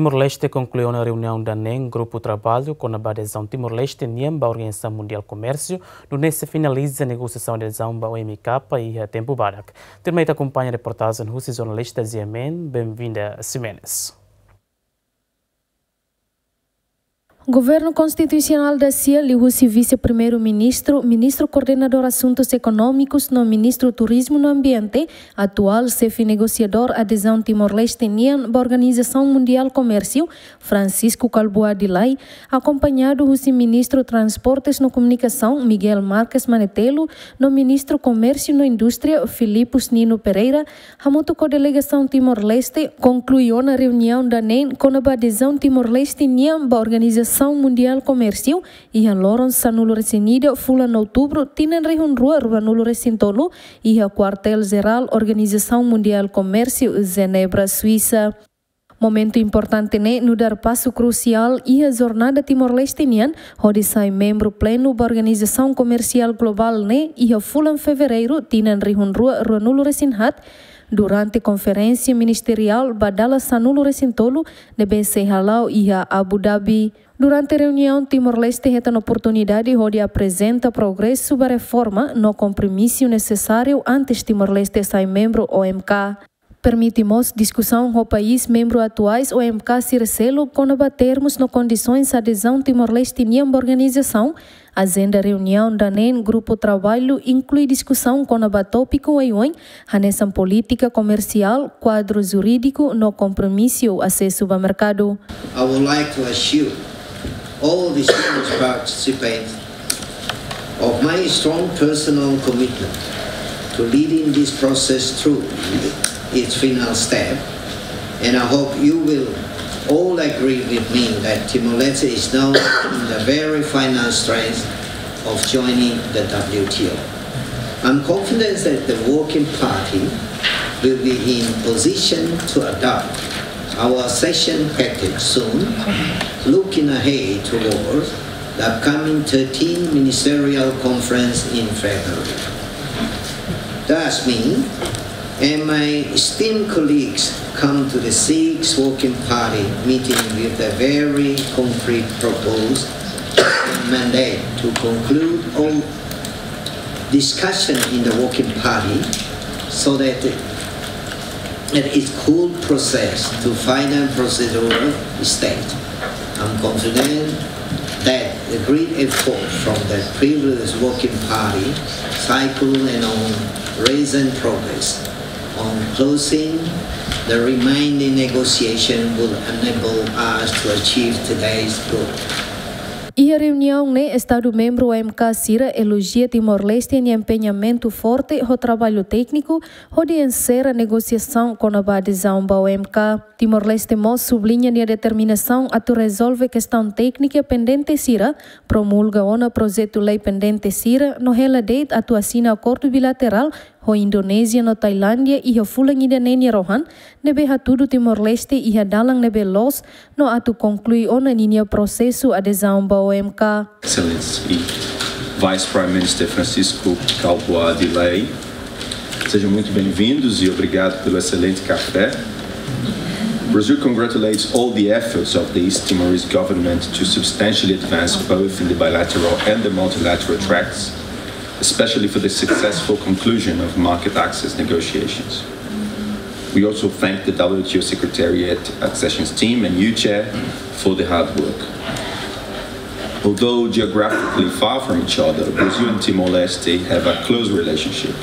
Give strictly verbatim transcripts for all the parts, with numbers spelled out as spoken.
Timor-Leste konklui ona reuniaun daneen grupu traballu kona-ba adezaun Timor-Leste nian ba Organizasaun Mundiál Komérsiu, nune'e sei finaliza negosiasaun adezaun ba O M K iha tempu badak. Tuirmai ita akompaña reportajen husi jornalista Ziamen Benvinda Ximenes. Governu Konstitusionál da-sia, liuhusi Vise-Primeiru-Ministru, Ministru Koordenadór Asuntus Ekonómikus no Ministru Turizmu no Ambiente, atuál xefe negosiadór adezaun Timor-Leste nian ba Organizasaun Mundiál Komérsiu, Francisco Kalbuadi Lay, akompañadu husi Ministru Transportes no Komunikasaun, Miguel Marques Manetelu, no Ministru Komérsiu no Indústria, Filipus Nino Pereira, hamutuk ho delegasaun Timor-Leste, konklui ona reuniaun daneen kona-ba adezaun Timor-Leste nian ba Organizasaun Mundiál Komérsiu, iha loron sanulu-resin-ida fulan Outubru, tinan rihun rua ruanulu-resin-tolu, iha Kuartél Jerál Organizasaun Mundiál Komérsiu, Jenebra, Suisa. Momentu importante ne'e nu'udar pasu krusiál iha jornada Timor-Leste nian, hodi sai membru plenu ba organizasaun komersiál globál ne'e iha fulan Fevereiru, tinan rihun rua ruanulu-resin-haat, durante konferénsia ministeriál ba dala sanulu-resin-tolu ne'ebé sei hala'o iha Abu Dhabi. Durante reuniaun, Timor-Leste hetan oportunidade hodi aprezenta progresu ba reforma no kompromisu nesesáriu antes Timor-Leste sai membru O M K. Permite mós diskusaun ho país membru atuais O M K sira seluk kona-ba termus no kondisoens adezaun Timor-Leste nian ba organizasaun. Ajenda reuniaun daneen grupu traballu inklui diskusaun kona-ba tópiku oioin, hanesan polítika komersiál, kuadru jurídiku no kompromisu asesu ba merkadu. I would like to assure all distinguished participants of my strong personal commitment to leading this process through its final step, and I hope you will all agree with me that Timor-Leste is now in the very final strength of joining the W T O. I'm confident that the Working Party will be in position to adopt our accession package soon, looking ahead towards the upcoming thirteenth Ministerial Conference in February. Thus mean, and my esteemed colleagues come to the sixth Working Party meeting with a very concrete proposed mandate to conclude all discussion in the Working Party so that it could process to final procedural stage. I'm confident that the great effort from the previous Working Party cycle and on recent progress on closing the remaining negotiation will enable us to achieve today's goal. Iha reuniaun ne'e, Estadu membru O M K sira elojia Timor-Leste nia empeñamentu forte ho traballu tékniku hodi enserra negosiasaun kona-ba adezaun ba O M K. Timor-Leste mós subliña nia determinasaun atu rezolve kestaun téknika pendente sira, promulga ona projetu lei pendente sira, no hela de'it atu asina akordu bilaterál ho Indonézia no Tailándia iha fulan ida-ne'e nia rohan, ne'ebé hatudu Timor-Leste iha dalan ne'ebé loos no atu konklui ona ninia prosesu adezaun ba O M K. Excellency Vice Prime Minister Francisco Kalbuadi Lay, sejam muito bem-vindos e obrigado pelo excelente café. Brazil congratulates all the efforts of the East Timorese government to substantially advance both in the bilateral and the multilateral tracks, especially for the successful conclusion of market access negotiations. We also thank the W T O Secretariat, accessions team, and you, Chair, for the hard work. Although geographically far from each other, Brazil and Timor-Leste have a close relationship.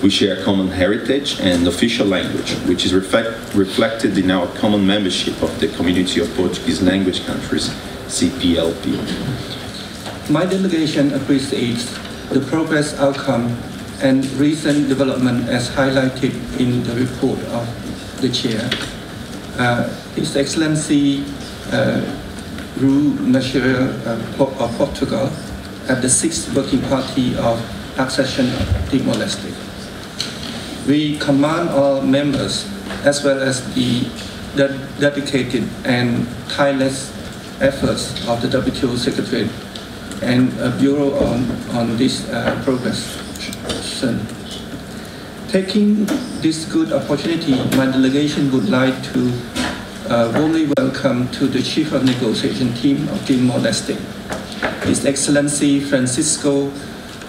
We share a common heritage and official language, which is reflect-, reflected in our common membership of the Community of Portuguese Language Countries, C P L P. My delegation appreciates the progress outcome and recent development as highlighted in the report of the chair. Uh, His Excellency, uh, Rui Mexia, uh, Po-, of Portugal at the sixth Working Party of Accession Timor-Leste. We commend all members as well as the ded-, dedicated and tireless efforts of the W T O Secretariat and, uh, Bureau on, on this, uh, progression. Taking this good opportunity, my delegation would like to, A warmly welcome to the Chief of Negotiation Team of Timor-Leste, His Excellency Francisco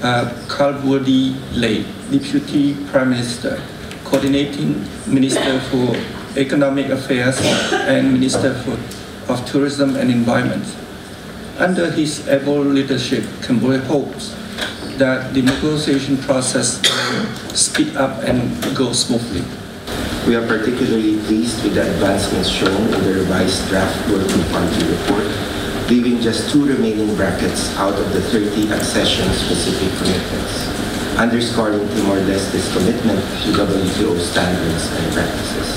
uh, Kalbuadi Lei, Deputy Prime Minister, Coordinating Minister for Economic Affairs and Minister for, of Tourism and Environment. Under his able leadership, Cambodia hopes that the negotiation process will speed up and go smoothly. We are particularly pleased with the advancements shown in the revised draft working party report, leaving just two remaining brackets out of the thirty accession-specific commitments, underscoring Timor-Leste's commitment to W T O standards and practices.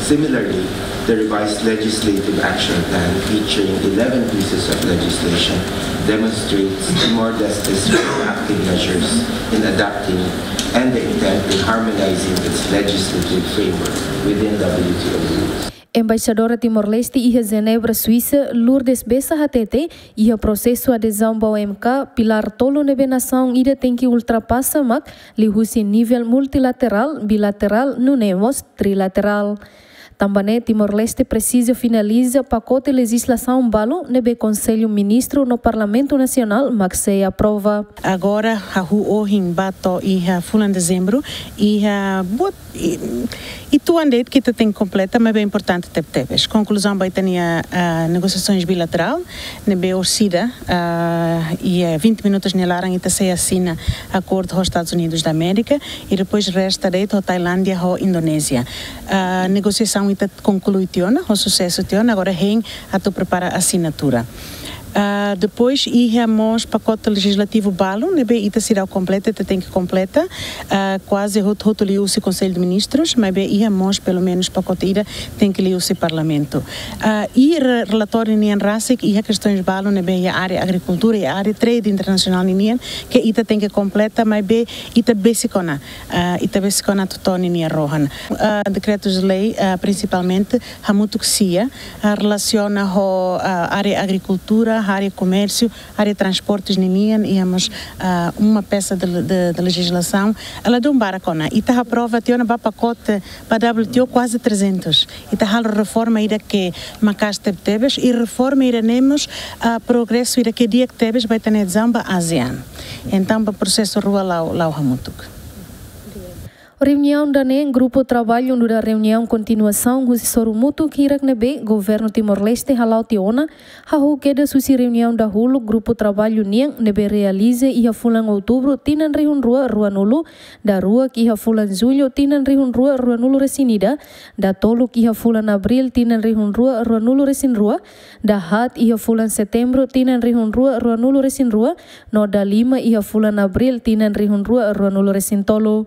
Similarly, the revised legislative action plan, featuring eleven pieces of legislation, demonstrates Timor-Leste's proactive measures in adapting and the intent in harmonizing its legislative framework within W T O rules. Embaixadora Timor-Leste iha Jenebra, Suisa, Lourdes Bessa hatete, iha prosesu adezaun ba O M K, pilár tolu ne'ebé nasaun ida tenke ultrapasa mak liuhusi nivel multilaterál, bilaterál, nune'e mós trilaterál. Tanba ne'e Timor-Leste presiza finaliza pakote lejizlasaun balu ne'ebé Konsellu Ministru no Parlamentu Nasionál mak sei aprova. Agora, hahú ohin ba to'o iha fulan Dezembru, iha buat, i, i tuan de'it ke ita tenke kompleta, maibé importante tebetebes. Konkluzaun ba ita-nia, ah, negosiasoens bilaterál, ne'ebé orsida, ah, iha vinte minutos nia laran ita sei asina akordu ho Estadus Unidus da Amérika, i depois resta de'it ho Tailándia, ho Indonézia. Ah, negosiasaun ita konklui tiha ona, ho susesu tiha ona, agora hein atu prepara asinatura. Ah, depois iha mós pakote lejizlativu balu, ne'ebé ita seidauk kompleta, ita tenke kompleta, ah, kuaze hotu-hotu liuhusi Konsellu de Ministrus, maibé iha mós pelumenus pakote ida tenke liuhusi Parlamentu. Ah, i re-, relatóriu nian rasik iha kestoens balu ne'ebé iha área agrikultura, iha área trade internasionál ninian, ke ita tenke kompleta, maibé ita besik ona, ah, ita besik ona atu to'o ninia rohan. Ah, dekretus-lei, ah, prinsipalmente, hamutuk sia, ah, relasiona ho, ah, área agrikultura, área komérsiu, área transportes ninian, iha mós, ah, uma peça de, de, de lejizlasaun. Ladún barak ona. Ita aprova tiha ona ba pakote, ba W T O kuaze trezentos. Ita halo reforma ida ke maka'as tebetebes, i reforma ida ne'e mós, ah, progresu ida ke di'ak tebes ba ita-nia adezaun ba ASEAN. Entaun, ba prosesu rua la'o, la'o hamutuk. Reuniaun ida-ne'e, grupu traballu nu'udar reuniaun kontinuasaun husi sorumutuk hirak ne'ebé Governu Timor-Leste hala'o tiha ona, hahú kedas husi reuniaun dahuluk grupu traballu nian ne'ebé realiza iha fulan Outubru tinan rihun rua ruanulu, daruak iha fulan Jullu tinan rihun rua ruanulu-resin-ida, datoluk iha fulan Abríl tinan rihun rua ruanulu-resin-rua, dahaat iha fulan Setembru tinan rihun rua ruanulu-resin-rua, no dalima iha fulan Abríl tinan rihun rua ruanulu-resin-tolu.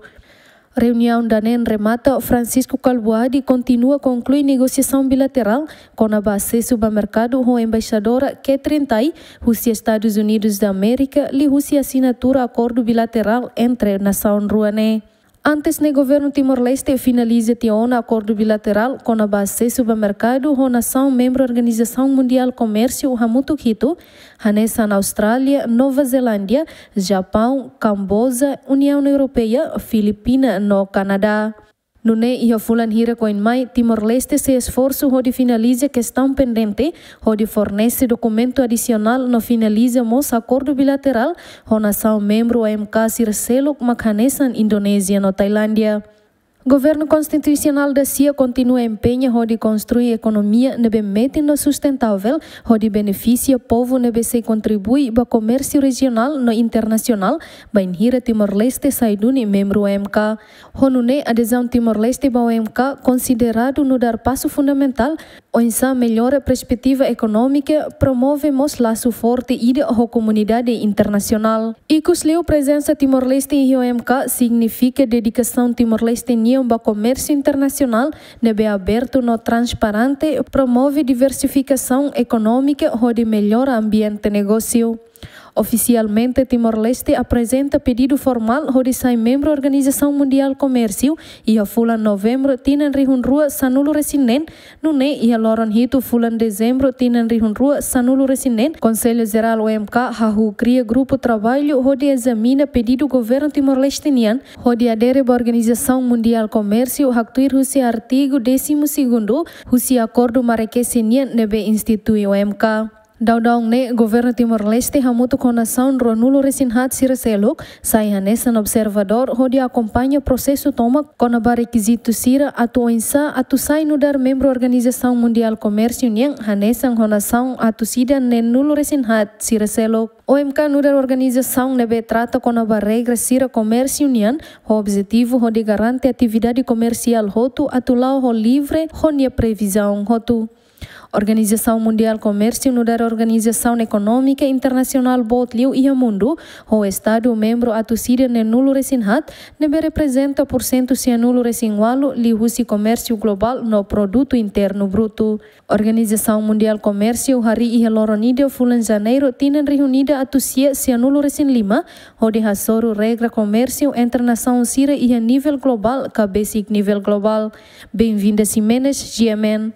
Reuniaun ida-ne'e remata, Francisco Kalbuadi kontinua konklui negosiasaun bilaterál kona-ba asesu ba merkadu ho Embaixadora Katherine Tai husi Estadus Unidus da Amérika, liuhusi asinatura akordu bilaterál entre nasaun rua ne'e. Antes ne'e Governu Timor-Leste finaliza tiha ona akordu bilaterál kona-ba asesu ba merkadu ho nasaun membru Organizasaun Mundiál Komérsiu hamutuk hitu, hanesan Austrália, Nova Zelándia, Japaun, Kamboja, Uniaun Europeia, Filipina no Kanadá. Nune'e iha fulan hirak oin mai, Timor-Leste sei esforsu hodi finaliza kestaun pendente, hodi fornese dokumentu adisionál no finaliza mós akordu bilaterál ho nasaun membru O M K sira seluk mak hanesan Indonézia no Tailándia. Governu Konstitusionál dasia kontinua empeña hodi konstrui ekonomia ne'ebé metin no sustentavel, hodi benefisia povu ne'ebé sei kontribui ba komérsiu rejionál no internasionál, bainhira Timor-Leste sai duni membru O M K. Ho nune'e adezaun Timor-Leste ba O M K konsideradu nu'udar pasu fundamentál, oinsá mellora perspetiva ekonómika, promove mós lasu forte ida ho komunidade internasionál. Ikusliu, prezensa Timor-Leste iha O M K signifika dedikasaun Timor-Leste nian ba komérsiu internasionál ne'ebé abertu no transparente, promove diversifikasaun ekonómika hodi mellora ambiente negósiu. Ofisialmente, Timor-Leste aprezenta pedidu formál hodi sai membru Organizasaun Mundiál Komérsiu iha fulan Novembru tinan rihun rua sanulu resin neen, nune'e iha loron hitu fulan Dezembru tinan rihun rua sanulu resin neen, Konsellu Jerál O M K hahú kria grupu traballu hodi ezamina pedidu governu Timor-Leste nian hodi adere ba Organizasaun Mundiál Komérsiu haktuir husi artigu décimo segundo husi akordu Marrakech nian ne'ebé institui O M K. Daudaun ne'e, governu Timor-Leste hamutuk ho nasaun ruanulu resin haat sira seluk sai hanesan observadór hodi akompaña prosesu tomak kona-ba rekizitu sira atu oinsá atu sai nu'udar membru Organizasaun Mundiál Komérsiu nian hanesan ho nasaun atus ida neenulu resin haat sira seluk. O M K nu'udar organizasaun ne'ebé trata kona-ba regra sira komérsiu nian, ho objetivu hodi garante atividade komersiál hotu atu la'o ho livre ho nia previzaun hotu. Organizasaun Mundiál Komérsiu nu'udar organizasaun ekonómika internasionál boot liu iha mundu, ho estadu membru atus ida neenulu resin haat, ne'ebé reprezenta pursentu sianulu resin ualu liuhusi komérsiu globál no produtu internu brutu. Organizasaun Mundiál Komérsiu harii iha loron ida fulan Janeiru tinan rihun ida atus sia sianulu resin lima, hodi hasoru regra komérsiu entre nasaun sira iha nivel globál ka besik nivel globál. Benvinda Ximenes, G M N.